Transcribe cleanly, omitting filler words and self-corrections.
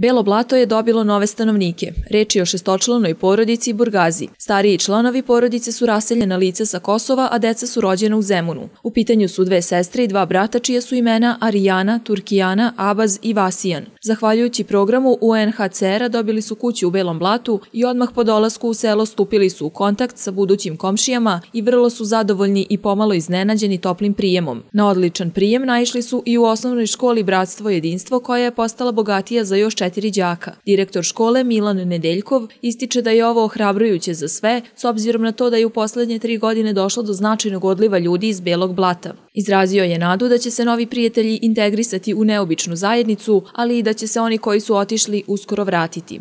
Belo Blato je dobilo nove stanovnike. Reč je o šestočlanoj porodici Burgazi. Stariji članovi porodice su raseljena lica sa Kosova, a deca su rođena u Zemunu. U pitanju su 2 sestre i 2 brata čija su imena Arijana, Turkijana, Abaz i Vasijan. Zahvaljujući programu UNHCR-a dobili su kuću u Belom Blatu i odmah po dolasku u selo stupili su u kontakt sa budućim komšijama i vrlo su zadovoljni i pomalo iznenađeni toplim prijemom. Na odličan prijem naišli su i u osnovnoj školi Bratstvo i jedinstvo, koja je postala bogatija za još 4 đaka. Direktor škole Milan Nedeljkov ističe da je ovo ohrabrujuće za sve, s obzirom na to da je u poslednje 3 godine došlo do značajnog odliva ljudi iz Belog Blata. Izrazio je nadu da će se novi prijatelji integrisati u neobičnu zajednicu, ali i da će se oni koji su otišli uskoro vratiti.